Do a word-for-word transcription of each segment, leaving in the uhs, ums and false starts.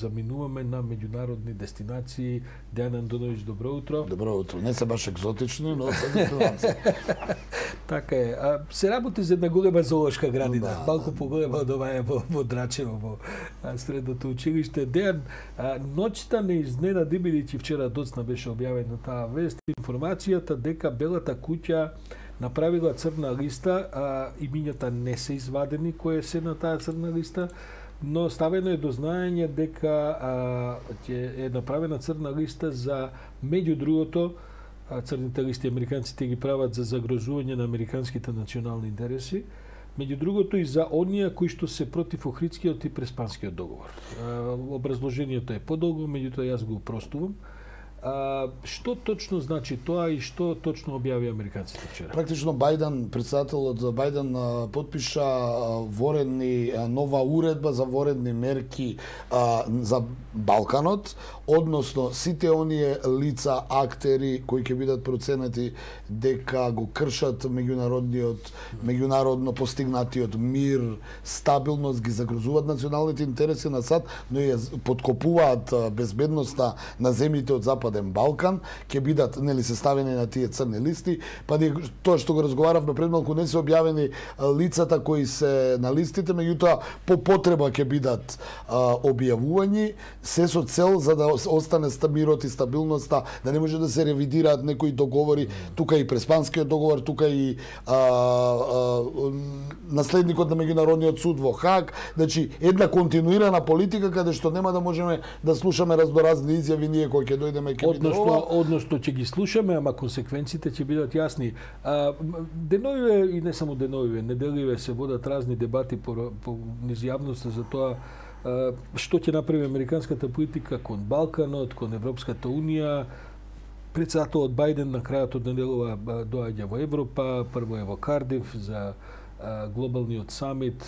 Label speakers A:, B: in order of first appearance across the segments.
A: заминуваме на меѓународни дестинации. Дејан Андоновиќ, добро утро.
B: Добро утро. Не се баш екзотични, но се дестинации.
A: Така е. А, се работи за една голема зоолошка градина,
B: да,
A: малку поголема од оваа во, во Драчево, во а, средното училиште. Дејан, а, ноќта не изненади, бидејќи вчера доцна беше објавена таа вест, информацијата дека Белата куќа направила црна листа, а имињата не се извадени кои се на таа црна листа, но ставено е до знаење дека а, е направена црна листа за, меѓу другото, црните листи американците ги прават за загрозување на американските национални интереси, меѓу другото и за оние кои што се против Охридскиот и Преспанскиот договор. А, образложението е подолго, меѓутоа јас го упростувам. А, што точно значи тоа и што точно објави американците вчера?
B: Практично Бајден, председателот Бајден подпиша воредни нова уредба за воредни мерки а, за Балканот, односно сите оние лица, актери кои ќе бидат проценети дека го кршат меѓународниот, меѓународно постигнатиот мир, стабилност, ги загрозуваат националните интереси на САД, но и подкопуваат безбедноста на земјите од Западен Балкан, ќе бидат, нели, се ставени на тие црни листи, па не, тоа што го разговаравме пред малку, не се објавени лицата кои се на листите, меѓутоа по потреба ќе бидат а, објавувањи, се со цел за да остане мирот и стабилноста, да не може да се ревидираат некои договори, тука и Преспанскиот договор, тука и а, а, наследникот на меѓународниот суд во Хаг, значи една континуирана политика каде што нема да можеме да слушаме раздоразни изјави ние кои ќе дојдеме ќе
A: односно односно ќе ги слушаме, ама консеквенците ќе бидат јасни. А, деновиве и не само деновиве, неделиве се водат разни дебати по, по низ јавноста за тоа а, што ќе направи американската политика кон Балканот, кон Европската унија. Председателот Бајден на крајот од неделова доаѓа во Европа, прво е во Кардиф за глобалниот самит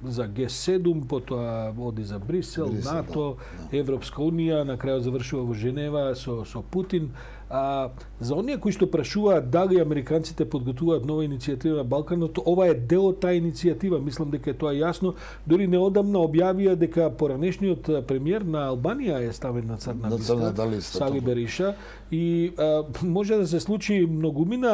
A: за Г седум, потоа оди за Брисел, Брисел НАТО, да, да. Европска унија, на крајот завршува во Женева со, со Путин. А, за оние кои што прашуваат дали американците подготвуваат нова иницијатива на Балканот, ова е дел од таа иницијатива, мислам дека е тоа јасно. Дори неодамна објавија дека поранешниот премиер на Албанија е ставен на црна листа, листа Сали Бериша, и а, може да се случи многумина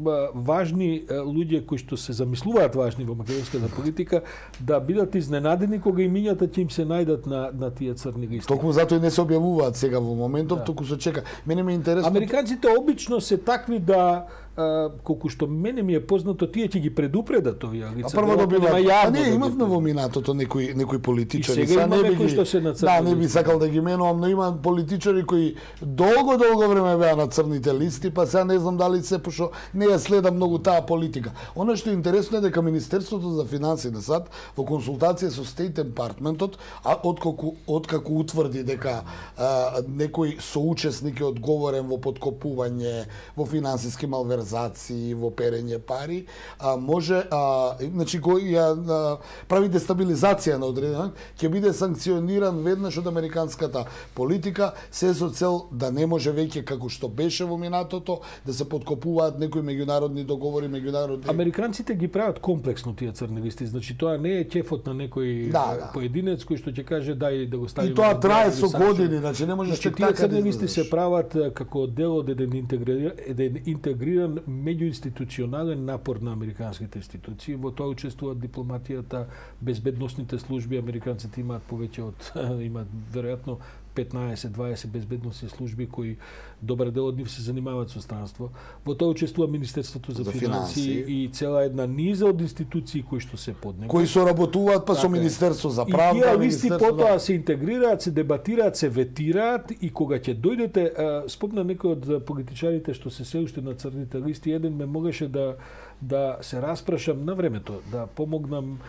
A: а, важни а, луѓе кои што се замислуваат важни во македонската политика да бидат изненадени кога имињата ќе им се најдат на, на тие црни листи.
B: Токму затоа и не се објавуваат сега во моментов, да. Току се чека. Мене ме интересно.
A: Американците обично се такви да, а, колку што мене ми е познато, тие ќе ги предупредат овие лица.
B: А прво добиваат. А не, имавме во минатото некои некои политичари.
A: И сега има некои што се на црни.
B: Да, не би сакал да ги менувам, но има политичари кои долго долго време беа на црните листи, па сега не знам дали се пошо не ја следам многу таа политика. Она што е интересно е дека Министерството за финансии на САД во консултација со State Departmentот, а откако откако утврди дека а, некој соучесник е одговорен во подкопување, во финансиски малверзации, во перење пари, а, може, а, значи, кој ја а, прави дестабилизација на одреден, ќе биде санкциониран веднаш од американската политика, се со цел да не може веќе како што беше во минатото, да се подкопуваат некои меѓународни договори, меѓународни...
A: Американците ги прават комплексно тие црни листи, значи тоа не е ќефот на некој да, да. поединец кој што ќе каже дај да го ставиме...
B: И тоа трае со години, значи не можеш
A: значи, тие црни листи се прават како дел од еден интегриран, еден интегриран меѓуинституционален напор на американските институции. Во тоа учествуваат дипломатијата, безбедносните служби, американците имаат повеќе од имаат веројатно петнаесет дваесет безбедносни служби кои добар дел од нив се занимаваат со странство. Во тоа учествува Министерството за, за финансии и цела една низа од институции кои што се под него.
B: Кои соработуваат па така, со Министерство за правда.
A: И тие листи потоа се интегрираат, се дебатираат, се ветираат и кога ќе дојдете, спомна некој од политичарите што се се уште на црните листи, еден ме можеше да да се распрашам на времето, да помогнам,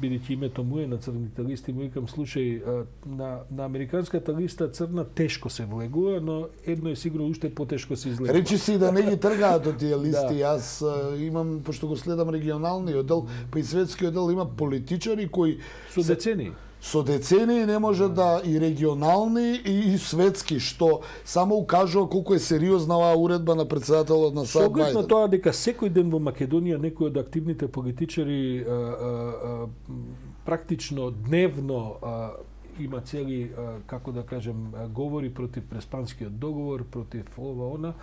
A: бидејќи името му е на црните листи, му викам, слушај, а, на, на американската листа црна тешко се влегува, но едно е сигурно уште потешко се излегува.
B: Речи си да не ги тргаат од тие листи. Да. Јас а, имам, пошто го следам регионалниот дел, па и светскиот дел, има политичари кои...
A: Со децении.
B: Со децении не може да и регионални и, и светски, што само укажува колку е сериозна оваа уредба на председателот на САД Бајден.
A: Со на тоа дека секој ден во Македонија некои од активните политичари а, а, а, практично дневно а, има цели, како да кажем, говори против Преспанскиот договор, против ова она.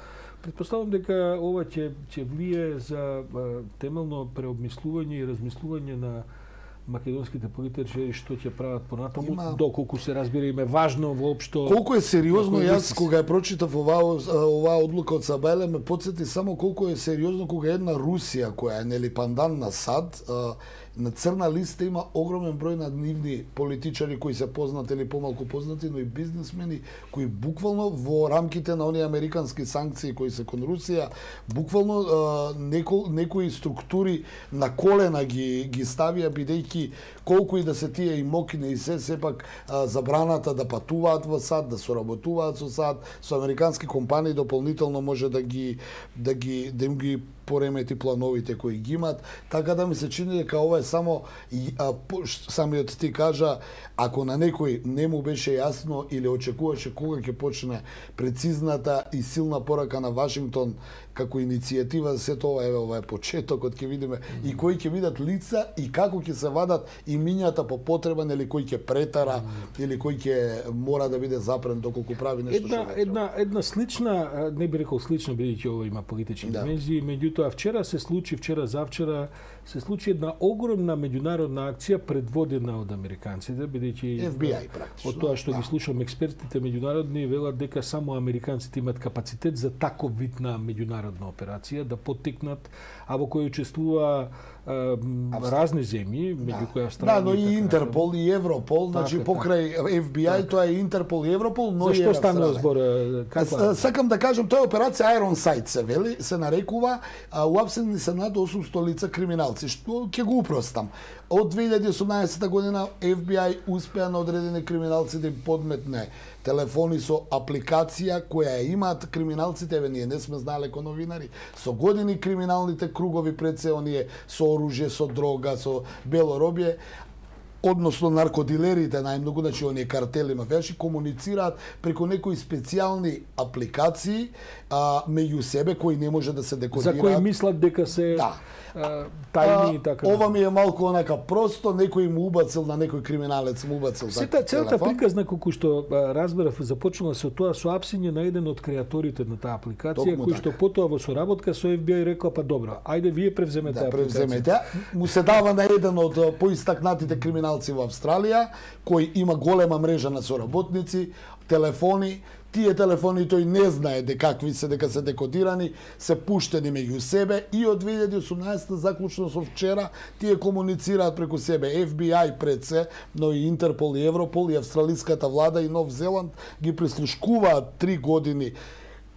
A: Претпоставам дека ова ќе ќе влие за темелно преобмислување и размислување на македонските политичари што ќе прават понатаму, има... доколку се разбира им е важно воопшто.
B: Колку е сериозно, јас кога ја прочитав оваа оваа одлука од Сабајле ме потсети само колку е сериозно кога една Русија која е нели пандан на САД, на црна листа има огромен број на нивни политичари кои се познати или помалку познати, но и бизнисмени кои буквално во рамките на оние американски санкции кои се кон Русија, буквално некои некои структури на колена ги ги ставија бидејќи колку и да се тие и мокни и се сепак забраната да патуваат во САД, да соработуваат со САД, со американски компании дополнително може да ги да ги да им ги поремети плановите кои ги имат, така да ми се чини дека ова е само а, самиот ти кажа, ако на некој не му беше јасно или очекуваше кога ќе почне прецизната и силна порака на Вашингтон како иницијатива за сето ова, еве ова е почетокот, ќе видиме mm. и кои ќе видат лица и како ќе се вадат и мињата по потреба, или кој ќе претара mm. или кој ќе мора да биде запрен доколку прави нешто
A: една, што една една слична, не би рекол слична бидејќи ова има политички да. димензии, меѓутоа вчера се случи, вчера завчера се случи една огромна меѓународна акција предводена од американците, бидејќи
B: Ф Би Ај практично.
A: Од тоа што
B: да.
A: ги слушам експертите меѓународни велат дека само американците имаат капацитет за таков вид на меѓународна операција да поттикнат, а во кој учествува а, разни земји, меѓу кои Австралија.
B: Да, но и Интерпол и Европол, значи покрај Ф Би Ај тоа е Интерпол и Европол, но
A: и
B: Австралија.
A: Зашто станува збор? Каква?
B: Сакам да кажам, тоа е операција Iron Sight се вели, се нарекува, а уапсени се над осумстотини лица криминалци, што ќе го упростам. Од две илјади и осумнаесета година Ф Би Ај успеа на одредени криминалци да им подметне телефони со апликација која ја имаат криминалците, еве ние не сме знаеле како новинари, со години криминалните кругови пред се оние со оружје, со дрога, со бело робје, односно наркодилерите најмногу, значи оние картели мафијаши комуницираат преку некои специјални апликации а, меѓу себе кои не може да се декодираат.
A: За кои мислат дека се
B: да.
A: а, тајни и така.
B: Ова ми е малку онака просто, некој му убацил на некој криминалец му убацил
A: Сета целата приказна колку што разберав започнала се од тоа со апсење на еден од креаторите на таа апликација,
B: Токму
A: кој
B: така.
A: што потоа во соработка со Ф Би Ај рекла па добро, ајде вие превземете
B: да,
A: апликација.
B: Превземете. Му се дава на еден од поистакнатите криминалци во Австралија, кој има голема мрежа на соработници, телефони. Тие телефони тој не знае дека какви се, дека се декодирани, се пуштени меѓу себе и од две илјади и осумнаесета заклучно со вчера тие комуницираат преку себе. Ф Би Ај пред се, но и Интерпол и Европол и австралиската влада и Нов Зеланд ги прислушкуваат три години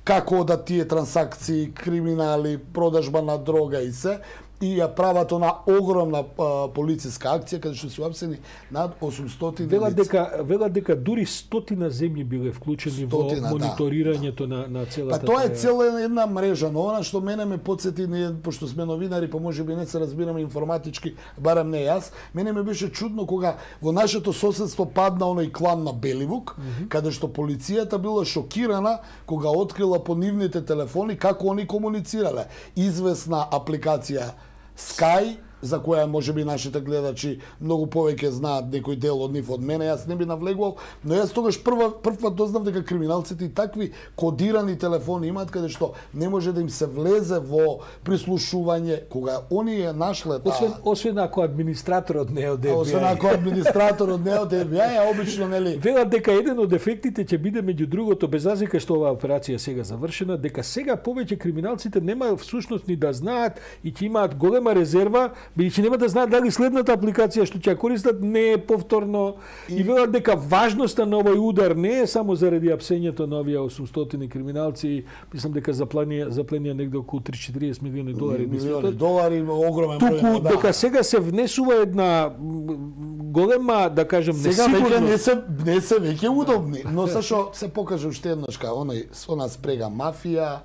B: како да тие трансакции, криминали, продажба на дрога и се, и ја прават она огромна а, полициска акција каде што се уапсени над осумстотини
A: Вела
B: лица.
A: дека вела дека дури стотина земји биле вклучени
B: Стотина,
A: во мониторирањето
B: да.
A: на на целата.
B: Па тоа е цела една мрежа, но она што мене ме потсети, ние пошто сме новинари, па можеби не се разбираме информатички, барем не јас, мене ме беше чудно кога во нашето соседство падна оној клан на Беливук, mm -hmm. каде што полицијата била шокирана кога открила по нивните телефони како они комуницирале. Известна апликација Sky, за која можеби нашите гледачи многу повеќе знаат некој дел од нив од мене, јас не би навлегувал, но јас тогаш прва првпат дознав дека криминалците и такви кодирани телефони имаат каде што не може да им се влезе во прислушување кога они ја нашле таа.
A: Освен освен ако администраторот не е од Ф Би Ај.
B: Освен ако администраторот не е од Ф Би Ај, обично нели.
A: Велат дека еден од ефектите ќе биде меѓу другото, без разлика што оваа операција сега завршена, дека сега повеќе криминалците нема всушност ни да знаат и ќе имаат голема резерва, бидејќи нема да знаат дали следната апликација што ќе ја користат не е повторно и, и велат дека важноста на овој удар не е само заради апсењето на овие осумстотини криминалци, мислам дека запленија запленија негде околу три до четириесет милиони долари,
B: милиони долари, огромен
A: број.
B: Туку
A: Да. Дека сега се внесува една голема, да кажем,
B: сега
A: несигурност.
B: веќе не се не се веќе удобни, но се што се покаже уште еднаш кај оној она спрега мафија,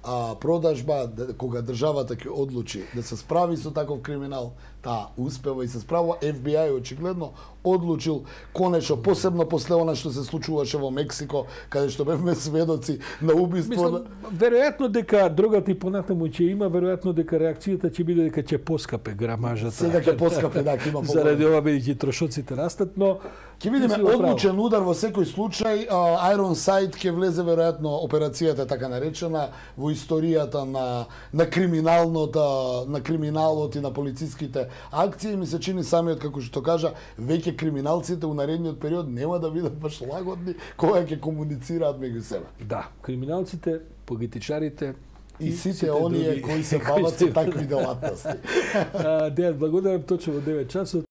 B: а, продажба, кога државата ќе одлучи да се справи со таков криминал, таа успева и се справува. Еф Би Ај очигледно одлучил конечно, посебно после она што се случуваше во Мексико, каде што бевме сведоци на убиство.
A: Мислам, веројатно дека дрогата и понатаму ќе има, веројатно дека реакцијата ќе биде дека ќе поскапе грамажата.
B: Сега ќе поскапе, да, ќе има поголем.
A: Заради ова бидејќи трошоците растат, но
B: ќе видиме одлучен удар во секој случај. Ironside ќе влезе веројатно операцијата така наречена во историјата на на криминалното, на криминалот и на полициските акции. Ми се чини самиот како што кажа, веќе криминалците у наредниот период нема да бидат баш лагодни кога ќе комуницираат меѓу себе.
A: Да, криминалците, политичарите
B: и, и сите оние кои се бават со такви делатности.
A: Дејан, благодарам, точно во девет часот.